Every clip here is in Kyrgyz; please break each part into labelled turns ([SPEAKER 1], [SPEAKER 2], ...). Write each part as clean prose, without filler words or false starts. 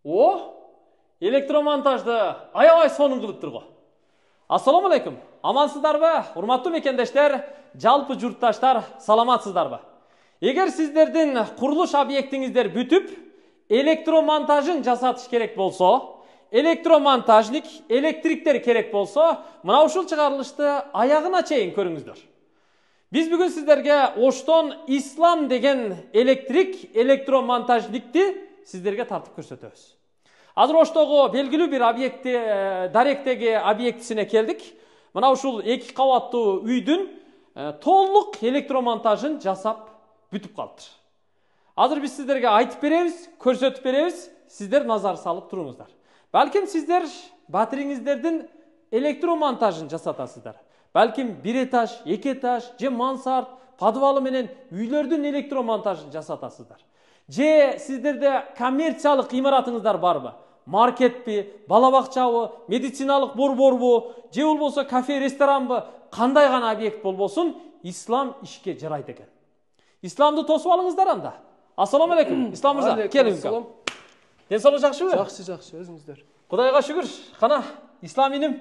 [SPEAKER 1] О, электромонтажды аябай сонун кылыптыр го. Ассаламу алейкум. Амансыздарбы? Урматтуу мекендештер, жалпы журтташтар, саламатсыздарбы? Эгер сиздердин курулуш объектиңиздер бүтүп, электромонтажын жасатыш керек болсо, электромонтажник, электриктер керек болсо, мына ушул чыгарылышты аягына чейин көрүңүздөр. Биз бүгүн сиздерге Оштон Ислам деген электромонтажникти сиздерге тартып көрсөтөбүз. Азыр Оштогу белгилүү бир объекти, даректеги объектисине келдик. Мына ушул 2 кабаттуу үйдүн толук электромонтажын жасап бүтүп калыптыр. Азыр биз сиздерге айтып беребиз, көрсөтүп беребиз, сиздер назар салып туруңуздар. Балким сиздер батириңиздердин электромонтажын жасатасыздар. Балким 1 этаж, 2 этаж, же мансард, подвалы менен үйлөрдүн электромонтажын жасатасыздар. Же сиздерде коммерциялык имаратыңыздар барбы? Маркетпи, бала бакчабы, медициналык борборбу, же болбосо кафе, ресторанбы, кандай гана объект болбосун, ислам ишке жарайт экен. Исламды тосуп алыңыздар анда. Ассаламу алейкум. Ислам мырза, келиңиз. Ден соолук жакшыбы?
[SPEAKER 2] Жакшы, өзүңүздөр.
[SPEAKER 1] Кудайга шүгүр. Кана, ислам иним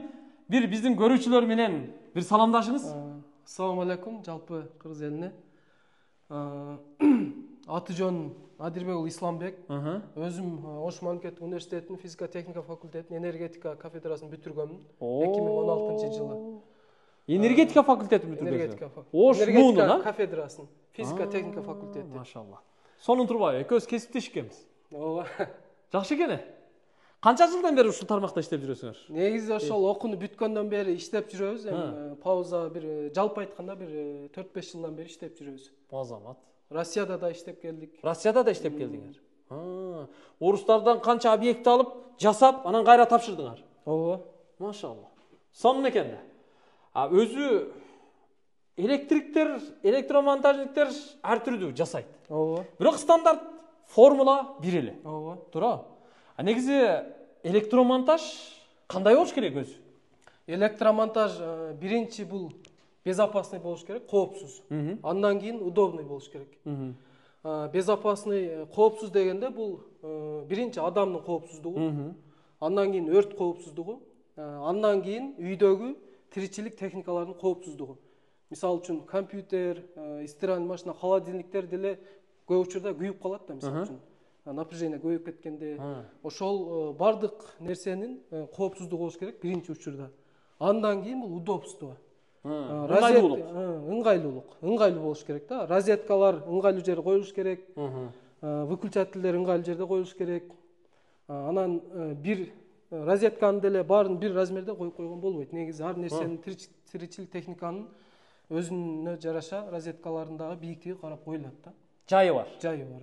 [SPEAKER 1] бир биздин көрүүчүлөр менен бир саламдашыңыз.
[SPEAKER 2] Ассаламу алейкум, жалпы кыргыз элине. Аты жөн Адирбек уулу Исламбек. Өзүм Ош мамлекеттик университетинин физика техника факультетинин энергетика кафедрасын бүтүргөмүн 2016-жылы.
[SPEAKER 1] Энергетика факультетин бүтүргөнсүз?
[SPEAKER 2] Энергетика факультети.
[SPEAKER 1] Ош муунун,
[SPEAKER 2] кафедрасын, физика техника факультети.
[SPEAKER 1] Машалла. Сонун турбайбы? Экөөбүз кесиптеш экенбиз.
[SPEAKER 2] Ооба.
[SPEAKER 1] Жакшы экен. Канча жылдан бери ушул тармакта иштеп жүрөсүңөр?
[SPEAKER 2] Негизи ошол окууну бүткөндөн бери иштеп жүрөбүз. Пауза бир жалпы айтканда бир 4-5 жылдан бери иштеп жүрөбүз.
[SPEAKER 1] Азамат.
[SPEAKER 2] Россияда да иштеп келдик.
[SPEAKER 1] Россияда да иштеп келдиңер. Орустардан канча объект алып, жасап, анан кайра тапшырдыңар?
[SPEAKER 2] Ооба.
[SPEAKER 1] Машалла. Сонун экен да. Өзү электриктер, электромонтажниктер ар түрдүү жасайт.
[SPEAKER 2] Ооба.
[SPEAKER 1] Бирок стандарт формула бир эле.
[SPEAKER 2] Ооба.
[SPEAKER 1] Туура. Негизи электромонтаж кандай болуш керек өзү?
[SPEAKER 2] Электромонтаж биринчи бул безопасный болуш керек, коопсуз. Андан кийин удобный болуш керек. Безопасный, коопсуз дегенде бул биринчи адамдын коопсуздугу, андан кийин өрт коопсуздугу, андан кийин үйдөгү тиричилик техникалардын коопсуздугу. Мисалы үчүн компьютер, стиральный машина, холодильниктер деле көп учурда күйүп калат да, мисалы үчүн. Напряжение көбөйүп кеткенде, ошол бардык нерсенин коопсуздугу болуш керек биринчи учурда. Андан кийин бул удобство. Ыңгайлуу болуш керек да. Розеткалар ыңгайлуу жерге коюлуш керек. Выключателдер ыңгайлуу жерде коюлуш керек. Анан бир розетканы деле баарын бир размерде коюп койгон болбойт. Негизи ар нерсенин тиричилик техниканын өзүнө жараша розеткаларындагы бийиктиги карап коюлат да.
[SPEAKER 1] Жайы бар.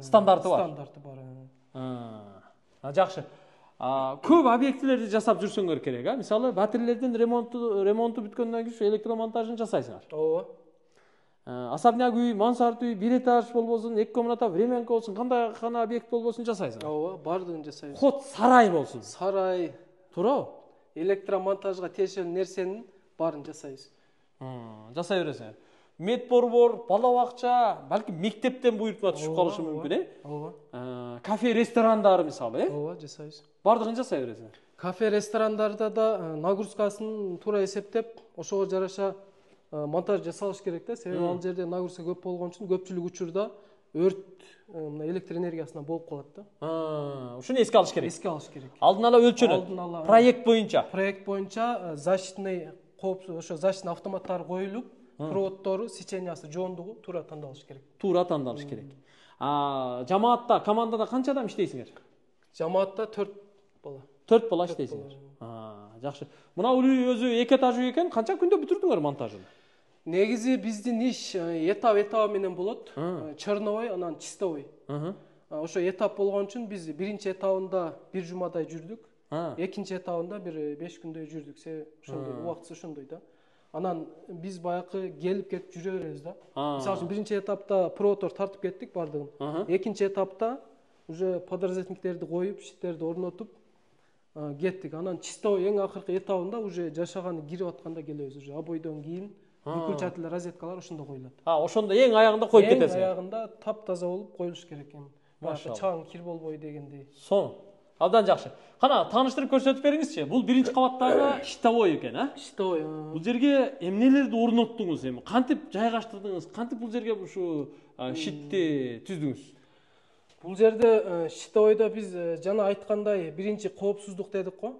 [SPEAKER 1] Стандарты бар.
[SPEAKER 2] Стандарты бар.
[SPEAKER 1] Жакшы. Көп объектилерди жасап жүрсөңөр керек, мисалы батирелердин ремонту бүткөндөн кийин электромонтажын жасайсыңар.
[SPEAKER 2] Ооба.
[SPEAKER 1] Особняк үй, мансард үй, 1 этаж болбосун, 2 комната, временка болсун, кандай гана объект болбосун жасайсыңар.
[SPEAKER 2] Ооба, бардыгын жасайбыз.
[SPEAKER 1] Ход сарай болсун.
[SPEAKER 2] Сарай,
[SPEAKER 1] туура.
[SPEAKER 2] Электромонтажга тиешелүү нерсенин баарын жасайбыз.
[SPEAKER 1] Жасай бересиңер. Медборбор, бала бакча, балки мектептен буйртма түшүп калышы мүмкүн,
[SPEAKER 2] Ооба.
[SPEAKER 1] Кафе, ресторандар мисалы,
[SPEAKER 2] Ооба, жасайбыз.
[SPEAKER 1] Бардыгын жасай бересиңер.
[SPEAKER 2] Кафе, ресторандарда да нагрузкасын туура эсептеп, ошого жараша монтаж жасалыш керек да. Себеби ал жерде нагрузка көп болгон үчүн көпчүлүк учурда өрт электр энергиясынан болуп калат да.
[SPEAKER 1] Ушуну эске алыш керек.
[SPEAKER 2] Эске алыш керек.
[SPEAKER 1] Алдын ала өлчөнөт. Проект боюнча.
[SPEAKER 2] Проект боюнча защитный коопсуз, ошо защитный автоматтар коюлуп, проводдору, сечениясы, жоондугу туура тандалыш керек.
[SPEAKER 1] Туура тандалыш керек. Жамаатта, командада канча адам иштейсиңер?
[SPEAKER 2] Жамаатта 4 бала.
[SPEAKER 1] 4 бала иштейсиңер. Жакшы. Мына үй өзү 2 этаж үй экен, канча күндө бүтүрдүңөр монтажын?
[SPEAKER 2] Негизи биздин иш этап менен болот. Черновой, анан чистовой. Ошо этап болгон үчүн биз биринчи этабында 1 жумадай жүрдүк. Экинчи этабында бир 5 күндөй жүрдүк. Ошондой убактысы ошондой да. Анан биз баягы келип кетип жүрө беребиз да. Мисалы үчүн биринчи этапта проводдор тартып кеттик бардыгын. Экинчи этапта уже подразделниктерди коюп, щиттерди орнотуп кеттик. Анан чистовой эң акыркы этабында уже жашаганы кирип атканда келебиз. Уже обойдон кийин выключатель, розеткалар ошондо коюлат.
[SPEAKER 1] Ошондо эң аягында коюп кетесиз.
[SPEAKER 2] Эң аягында таптаза болуп коюлуш керек экен. Чаң кир болбой дегендей.
[SPEAKER 1] Абдан жакшы. Кана тааныштырып көрсөтүп бериңизчи. Бул биринчи кабаттагы щитовой экен, а?
[SPEAKER 2] Щитовой.
[SPEAKER 1] Бул жерге эмнелерди орноттуңуз эми? Кантип жайгаштырдыңыз? Кантип бул жерге ушу щитти түздүңүз?
[SPEAKER 2] Бул жерде щитовойдо биз жана айткандай биринчи коопсуздук дедик го.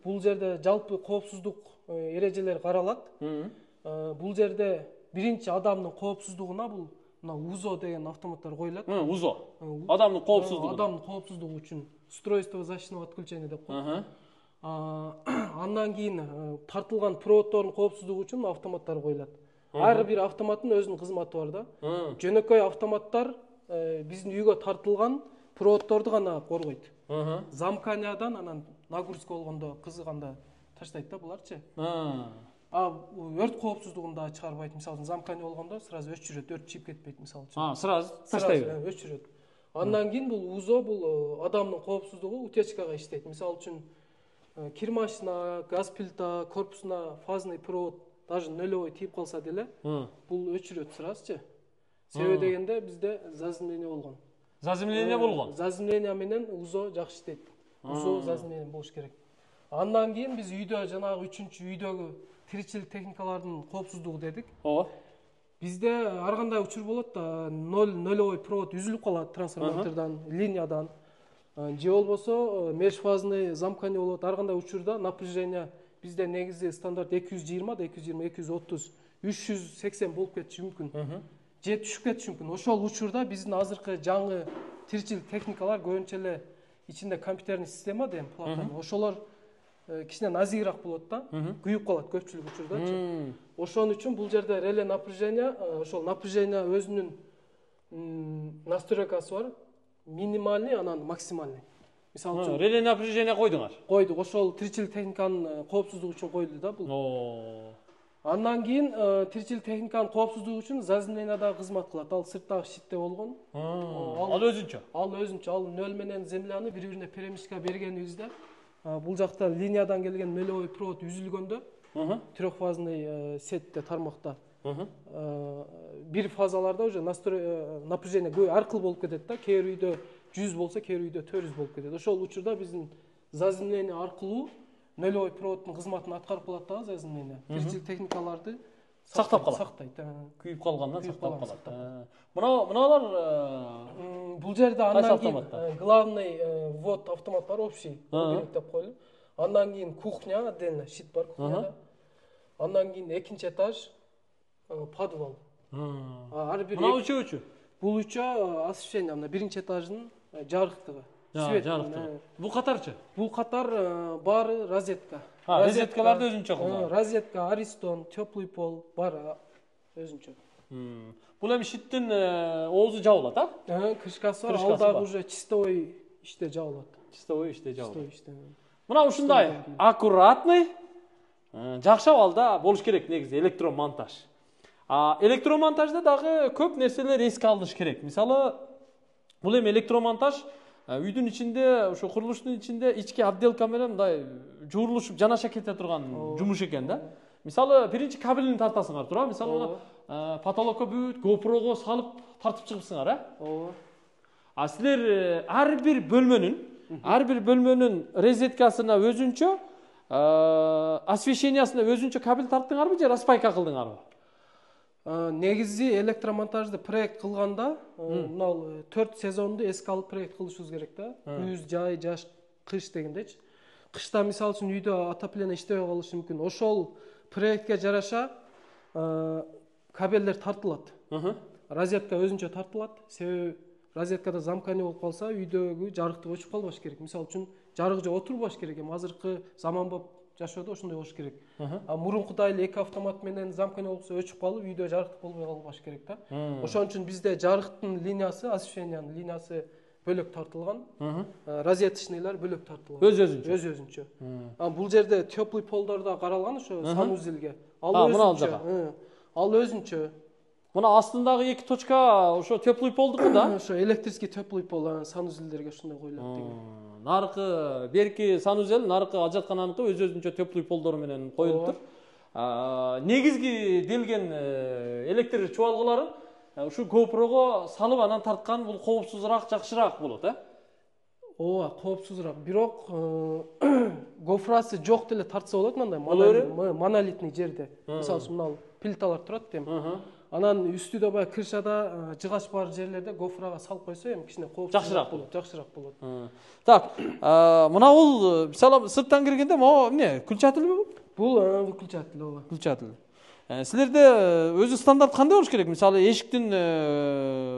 [SPEAKER 2] Бул жерде жалпы коопсуздук эрежелери каралат. Бул жерде биринчи адамдын коопсуздугуна бул мына УЗО деген автоматтар коюлат.
[SPEAKER 1] УЗО. Адамдын коопсуздугу.
[SPEAKER 2] Адамдын коопсуздугу үчүн устройство защитного отключения деп коет. Андан кийин тартылган проводдордун коопсуздугу үчүн автоматтар коюлат. Ар бир автоматтын өзүнүн кызматы бар да. Жөнөкөй автоматтар биздин үйгө тартылган проводдорду гана коргойт. Замканиядан анан нагрузка болгондо кызыганда таштайт да буларчы. Өрт коопсуздугунда чыгарбайт. Мисалы замкания болгондо сразу өчүрөт, өрт чыгып кетпейт мисалы үчүн.
[SPEAKER 1] Сразу таштайт.
[SPEAKER 2] Өчүрөт. Андан кийин бул УЗО бул адамдын коопсуздугу утечкага иштейт. Мисалы үчүн кир машина, газ плита корпусуна фазный провод даже нөлөбөй тийип калса деле бул өчүрөт сразу. Себеби дегенде бизде заземление болгон.
[SPEAKER 1] Заземление болгон.
[SPEAKER 2] Заземление менен УЗО жакшы иштейт. УЗО заземление болуш керек. Андан кийин биз үйдө жанагы 3-үчү үйдөгү тиричилик техникалардын коопсуздугу дедик. Бизде ар кандай учур болот да, нөлөбөй провод үзүлүп калат трансформатордон, линиядан. Же болбосо межфазный замкание болот. Ар кандай учурда напряжение бизде негизи стандарт 220 да 220, 230, 380 болуп кетиши мүмкүн. Же түшүп кетиши мүмкүн. Ошол учурда биздин азыркы жаңы тиричилик техникалар көбүнчө эле ичинде компьютерный система деген плата. Ошолор кичине назигирак болот да, күйүп калат көпчүлүк учурдачы. Ошон үчүн бул жерде реле напряжение, ошол напряжение өзүнүн настройкасы бар. Минимальный, анан максимальный. Мисалы үчүн
[SPEAKER 1] реле напряжение койдуңар.
[SPEAKER 2] Койдук. Ошол тиричилик техниканын коопсуздугу үчүн коюлду да бул. Андан кийин тиричилик техниканын коопсуздугу үчүн заземление да кызмат кылат. Ал сырттагы щитте болгон.
[SPEAKER 1] Ал өзүнчө.
[SPEAKER 2] Ал нөл менен земляны бири-бирине перемешка бергенибизде бул жакта линиядан келген нөлөбөй провод үзүлгөндө трехфазный сетте тармакта бир фазаларда уже напряжение ар кыл болуп кетет да. Кээ бир үйдө 100 болсо, кээ бир үйдө 400 болуп кетет. Ошол учурда биздин заземление аркылуу нөлөбөй проводдун кызматын аткарып калат да заземление. Тиричилик техникаларды
[SPEAKER 1] сактап калат.
[SPEAKER 2] Сактайт.
[SPEAKER 1] Күйүп калгандан сактап калат. Мыналар
[SPEAKER 2] бул жерде андан кийин главный ввод автомат бар, общий деп коелу. Андан кийин кухня, отдельно щит бар кухняда. Андан кийин экинчи этаж подвал. Ар бир
[SPEAKER 1] мына үчөө.
[SPEAKER 2] Бул үчөө освещение, мына биринчи этаждын жарыктыгы. Свет.
[SPEAKER 1] Бул катарчы?
[SPEAKER 2] Бул катар баары розетка.
[SPEAKER 1] Розеткаларды өзүнчө кылган.
[SPEAKER 2] Розетка, аристон, теплый пол бар өзүнчө.
[SPEAKER 1] Бул эми щиттин оозу жабылат, а?
[SPEAKER 2] Крышкасы бар. Алдагы уже чистовой иште жабылат.
[SPEAKER 1] Чистовой иште жабылат. Мына ушундай аккуратный, жакшы абалда болуш керек негизи электромонтаж. Электромонтажда дагы көп нерселер эске алыныш керек. Мисалы, бул эми электромонтаж үйдүн ичинде, ошо курулуштун ичинде ички отделка менен мындай жуурулушуп жанаша кете турган жумуш экен да. Мисалы, биринчи кабелин тартасыңар тура. Мисалы, потолокко бүт GoPro'го салып тартып чыгыпсыңар, силер ар бир бөлмөнүн розеткасына өзүнчө, освещениясына өзүнчө кабель тарттыңарбы же распайка кылдыңарбы?
[SPEAKER 2] Негизи электромонтажды проект кылганда, мына 4 сезонду эске алып проект кылышыбыз керек да. Күз, жай, жаш, кыш дегендечи. Кышта мисалы үчүн үйдө отопление иштебей калышы мүмкүн. Ошол проектке жараша кабелдер тартылат. Розетка өзүнчө тартылат. Себеби розеткада замкание болуп калса, үйдөгү жарыктык өчүп калбаш керек. Мисалы үчүн жарык жок отурбаш керек. Азыркы заманбап жашоодо ошондой болуш керек. Мурункудай эле эки автомат менен замкание болсо өчүп калып, үйдө жарыктык болбой калбаш керек да. Ошон үчүн бизде жарыктын линиясы, освещениянын линиясы бөлөк тартылган. Розеточныйлар бөлөк тартылган. Өз-өзүнчө. Бул жерде теплый полдор да каралган ошо санузелге. Ал өзүнчө.
[SPEAKER 1] Мына астындагы эки точка ошо теплый полдуку да?
[SPEAKER 2] Ошо электрический теплый пол санузелдерге ошондой коюлат деген.
[SPEAKER 1] Наркы берки санузел, наркы ажаткананыкы өз-өзүнчө теплый полдор менен коюлуптур. Негизги делген электр чубалгыларын ушу GoPro'го салып анан тарткан бул коопсузураак, жакшыраак болот,
[SPEAKER 2] ооба коопсузураак, бирок гофрасы жок деле тартса болот, мындай монолитный жерде. Мисалы үчүн мына плиталар турат эми. Анан үстүдө баягы крышада жыгач бар жерлерде гофрага салып койсо эми кичине коопсузураак болот, жакшыраак болот.
[SPEAKER 1] Так, мына бул мисалы сырттан киргенде могу эмне, күлчатылбы?
[SPEAKER 2] Бул выключатель, ооба.
[SPEAKER 1] Күлчатыл. Силерде өзү стандарт кандай болуш керек? Мисалы эшиктин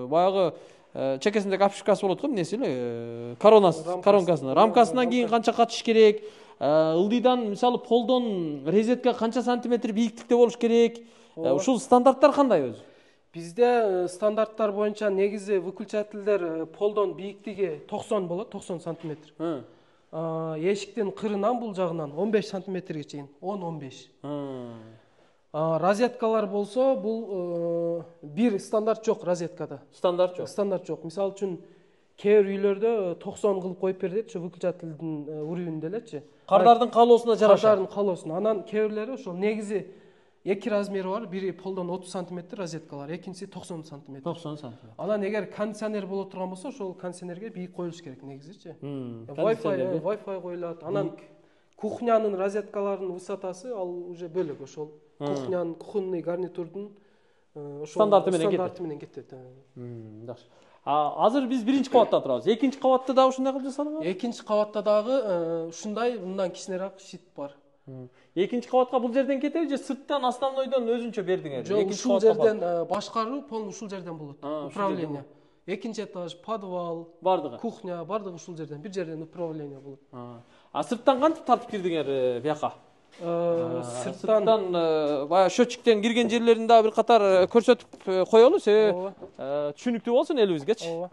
[SPEAKER 1] баягы чекесиндеги обшивкасы болот го, эмнеси эле? Рамкасынан кийин канча катыш керек? Ылдыйдан мисалы полдон розетка канча сантиметр бийиктикте болуш керек? Ушул стандарттар кандай өзү?
[SPEAKER 2] Бизде стандарттар боюнча негизи выключательдер полдон бийиктиги 90 болот, 90 сантиметр. Эшиктин кырынан бул жагынан 15 сантиметрге чейин, 10-15. Розеткалар болсо бул бир стандарт жок розеткада.
[SPEAKER 1] Стандарт жок.
[SPEAKER 2] Стандарт жок. Мисалы үчүн кээ бир үйлөрдө 90 кылып коюп берет, ошо выключательдин уровенинде элечи.
[SPEAKER 1] Кардардын калоосуна жараша.
[SPEAKER 2] Кардардын калоосуна. Анан кээ бирлери ошол негизи эки размери бар, бири полдон 30 сантиметр розеткалар, экинчиси 90 сантиметр.
[SPEAKER 1] 90 сантиметр.
[SPEAKER 2] Анан эгер кондиционер боло турган болсо, ошол кондиционерге бийик коюлуш керек негизичи. Wi-Fi коюлат. Анан кухнянын розеткаларынын высотасы ал уже бөлөк, ошол кухнянын, кухонный гарнитурдун ошол
[SPEAKER 1] стандарты менен
[SPEAKER 2] кетет.
[SPEAKER 1] Жакшы. Азыр биз биринчи кабатта турабыз. Экинчи кабатта дагы ушундай кылып жасалган?
[SPEAKER 2] Экинчи кабатта дагы ушундай, мындан кичинерээк щит бар.
[SPEAKER 1] Экинчи кабатка бул жерден кетеби же сырттан основнойдон өзүнчө бердиңер?
[SPEAKER 2] Жок, ушул жерден башкаруу полный ушул жерден болот. Управление. Экинчи этаж, подвал,
[SPEAKER 1] бардыгы.
[SPEAKER 2] Кухня, бардыгы ушул жерден, бир жерден управление болот.
[SPEAKER 1] Сырттан кантип тартып кирдиңер бияка?
[SPEAKER 2] Сырттан
[SPEAKER 1] баягы счетчиктен кирген жерлерин дагы бир катар көрсөтүп коелу, себеби түшүнүктүү болсун элибизгечи.
[SPEAKER 2] Ооба.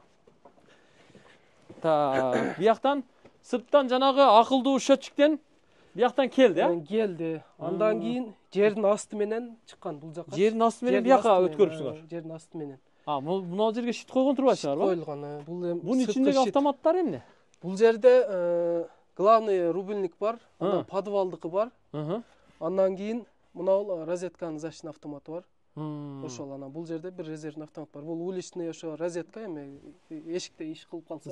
[SPEAKER 1] Так, бияктан сырттан жанагы акылдуу счетчиктен бияктан келди,
[SPEAKER 2] Келди. Андан кийин жердин асты менен чыккан бул жакка.
[SPEAKER 1] Жердин асты менен бияка өткөрүпсүңөр.
[SPEAKER 2] Жердин асты менен.
[SPEAKER 1] Мына жерге щит койгон турбайсыңарбы?
[SPEAKER 2] Коюлган. Бул эми
[SPEAKER 1] бунун ичиндеги автоматтар эмне?
[SPEAKER 2] Бул жерде главный рубильник бар, андан подвалдыкы бар. Андан кийин мына бул розетканын защитный автоматы бар. Ошол анан бул жерде бир резервный автомат бар. Бул уличный ошо розетка эми эшикте иш кылып калса,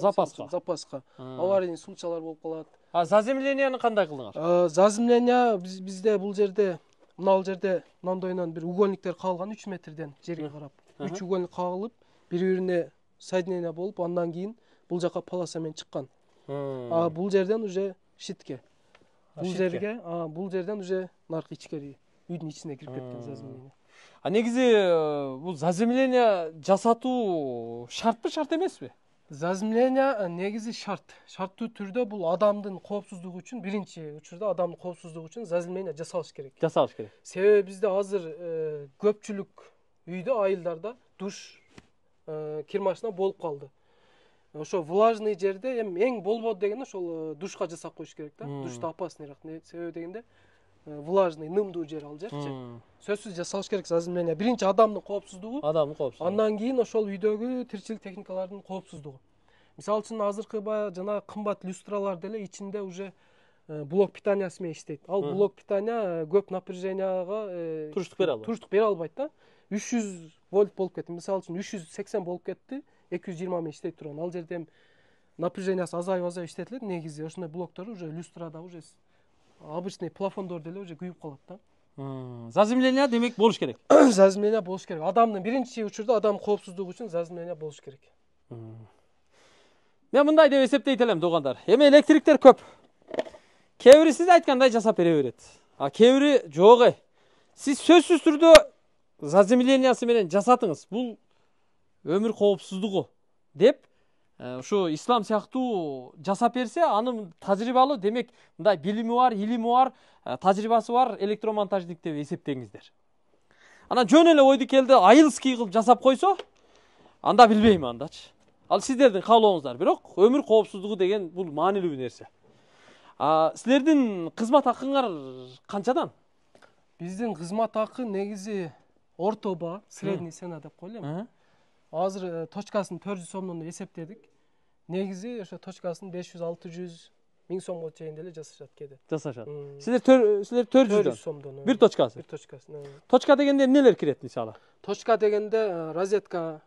[SPEAKER 2] запаска. Аварийный случайлар болуп калат.
[SPEAKER 1] Заземленияны кандай кылдыңар?
[SPEAKER 2] Заземление бизде бул жерде мындайынан бир угольниктер кагылган 3 метрден жерге карап. 3 угольник кагылып, бири-бирине соединение болуп, андан кийин бул жака полоса менен чыккан. Бул жерден уже щитке. Бул жерден уже наркы ичкери үйдүн ичине кирип кеткен заземление.
[SPEAKER 1] Негизи бул заземление жасатуу шартпы, шарт эмеспи?
[SPEAKER 2] Заземление негизи шарт. Шарттуу түрдө бул адамдын коопсуздугу үчүн, биринчи учурда адамдын коопсуздугу үчүн заземление жасалыш керек. Себеби бизде азыр көпчүлүк үйдө, айылдарда душ, кир машина болуп калды. Ошо влажный жерде эң болбоду дегенде ошол душка жасап коюш керек да. Душта опасныйраак. Себеби дегенде влажный, нымдуу жер ал жерчи. Сөзсүз жасалыш керек заземление. Биринчи адамдын коопсуздугу, андан кийин ошол үйдөгү тиричилик техникалардын коопсуздугу. Мисалы үчүн азыркы баягы жана кымбат люстралар деле ичинде уже блок питаниясы менен иштейт. Ал блок питания көп напряженияга туруштук бере албайт да. 300 вольт болуп кетти. Мисалы үчүн 380 болуп кетти, 220 менен иштей турган. Ал жерде напряжениясы азайып иштетилет. Негизи ошондой блоктор уже люстрада уже обычный плафондор деле уже күйүп калат да.
[SPEAKER 1] Заземление демек болуш керек.
[SPEAKER 2] Заземление болуш керек. Адамдын биринчи учурда адам коопсуздугу үчүн заземление болуш керек.
[SPEAKER 1] Мен мындай деп эсептейт элем, туугандар. Эми электриктер көп. Кээ бири сиз айткандай жасап бере берет. Кээ бири жок. Сиз сөзсүз түрдө заземлениясы менен жасатыңыз. Бул өмүр коопсуздугу деп ушу ислам сыяктуу жасап берсе, анын тажрыйбалуу, демек мындай билими бар, илими бар, тажрыйбасы бар электромонтажник деп эсептеңиздер. Анан жөн эле ойду келди айылский кылып жасап койсо, анда билбейм андачы. Ал сиздердин каалооңуздар, бирок өмүр коопсуздугу деген бул маанилүү нерсе. Силердин кызмат акыңар канчадан?
[SPEAKER 2] Биздин кызмат акы негизи орто баа, средний цена деп коелу. Азыр точкасын 400 сомдон эсептедик. Негизи ошо точкасын 500-600 1000 сомго чейин деле жасашат кээде.
[SPEAKER 1] Силер 400
[SPEAKER 2] сомдон.
[SPEAKER 1] Бир точкасы.
[SPEAKER 2] Бир точкасын.
[SPEAKER 1] Точка дегенде эмнелер кирет мисалы?
[SPEAKER 2] Точка дегенде розетка,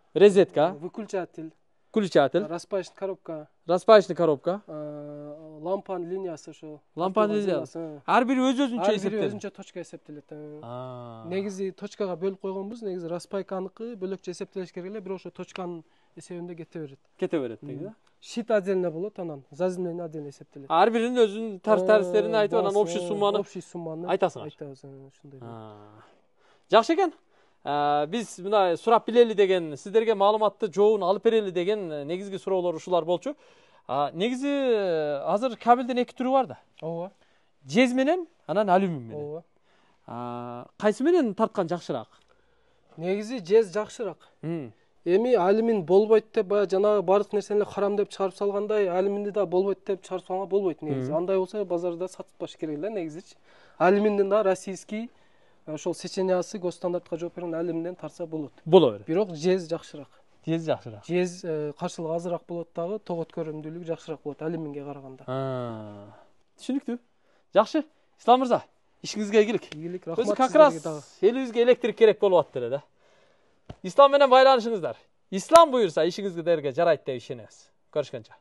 [SPEAKER 1] выключатель,
[SPEAKER 2] распаечный коробка,
[SPEAKER 1] Распаечный коробка.
[SPEAKER 2] Лампанын линиясы ошо.
[SPEAKER 1] Лампанын линиясы. Ар бири өз-өзүнчө эсептелет.
[SPEAKER 2] Ар бири өзүнчө точка эсептелет. Негизи точкага бөлүп койгонбуз. Негизи распайканыкы бөлөкчө эсептелиш керек эле, бирок ошо точканын эсебинде кете берет.
[SPEAKER 1] Кете берет деги да.
[SPEAKER 2] Щит отдельно болот, анан заземление отдельно эсептелет.
[SPEAKER 1] Ар биринин өзүнүн тарифтерин айтып, анан общий сумманы айтасыңар.
[SPEAKER 2] Айтабыз, ошондой.
[SPEAKER 1] Жакшы экен. Биз мына сурап билели деген, сиздерге маалыматты жообун алып берели деген негизги суроолор ушулар болчу. Негизи азыр кабелдин эки түрү бар да.
[SPEAKER 2] Ооба.
[SPEAKER 1] Жез менен, анан алюмин менен.
[SPEAKER 2] Ооба.
[SPEAKER 1] Кайсы менен тарткан жакшыраак?
[SPEAKER 2] Негизи жез жакшыраак. Эми алюмин болбойт деп баягы жанагы бардык нерсени харам деп чыгарып салгандай, алюминди да болбойт деп чыгарып салганга болбойт негизи. Андай болсо базарда сатылбаш керек эле негизичи. Алюминдин да российский ошол сечениясы госстандартка жооп берген алюминден тарса болот.
[SPEAKER 1] Боло берет.
[SPEAKER 2] Бирок жез жакшыраак.
[SPEAKER 1] Жез жакшыраак.
[SPEAKER 2] Жез каршылыгы азыраак болот дагы, тогот көрүмдүүлүгү жакшыраак болот алюминге караганда.
[SPEAKER 1] Түшүнүктүү. Жакшы. Ислам мырза, ишиңизге ийгилик.
[SPEAKER 2] Ийгилик, рахмат.
[SPEAKER 1] Өзү как раз элибизге электрик керек болуп атты эле да. Ислам менен байланышыңыздар. Ислам буйрса ишиңизге жарайт деп ишенебиз. Көрүшкөнчө.